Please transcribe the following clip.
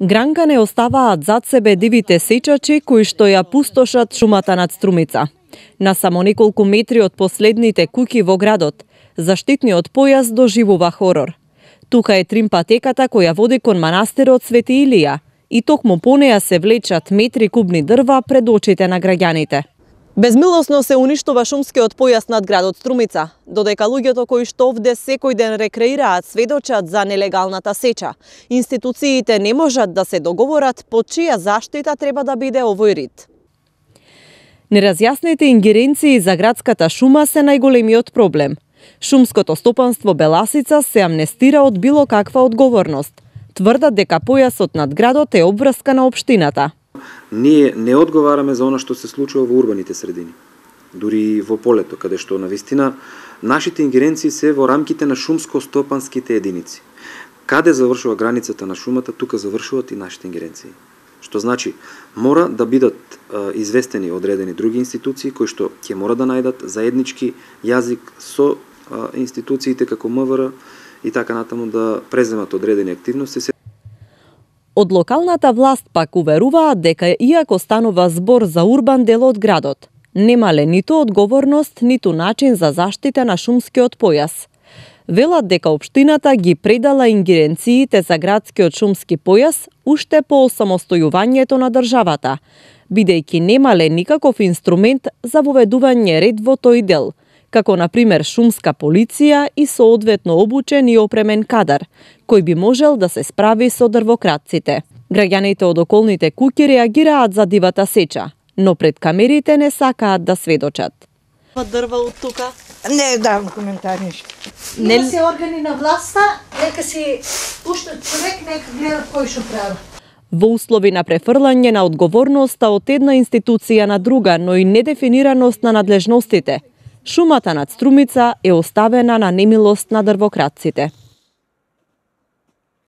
Гранка оставаат зад себе дивите сечачи кои што ја пустошат шумата над Струмица. На само неколку метри од последните куќи во градот, заштитниот појас доживува хорор. Тука е тримпатеката која води кон манастирот Свети Илија и токму по неја се влечат метри кубни дрва пред очите на граѓаните. Безмилосно се уништува шумскиот појас над градот Струмица, додека луѓето кои што овде секој ден рекреираат сведочат за нелегалната сеча. Институциите не можат да се договорат по чија заштита треба да биде овој рид. Неразјаснете ингеренции за градската шума се најголемиот проблем. Шумското стопанство Беласица се амнестира од било каква одговорност. Тврдат дека појасот над градот е обврска на општината. Ние не одговараме за она што се случува во урбаните средини. Дури во полето, каде што навистина нашите ингеренции се во рамките на шумско-стопанските единици. Каде завршува границата на шумата, тука завршуваат и нашите ингеренции. Што значи, мора да бидат известени одредени други институции кои што ќе мора да најдат заеднички јазик со институциите како МВР и така натаму да преземат одредени активности. Од локалната власт пак уверуваат дека иако станува збор за урбан дел од градот, немале ниту одговорност, ниту начин за заштита на шумскиот појас. Велат дека општината ги предала ингеренциите за градскиот шумски појас уште по осамостојувањето на државата, бидејќи немале никаков инструмент за воведување ред во тој дел, како на пример шумска полиција и соодветно обучен и опремен кадар, кој би можел да се справи со дрвократците. Граѓаните од околните куќи реагираат за дивата сеча, но пред камерите не сакаат да сведочат. Дрва од тука? Не давам коментар ништо. Не се органи на власта, нека си пуштат човек, нека гледа кој што прави. Во услови на префрлање на одговорноста од една институција на друга, но и недефинираност на надлежностите, шумата над Струмица е оставена на немилост на дрвократците.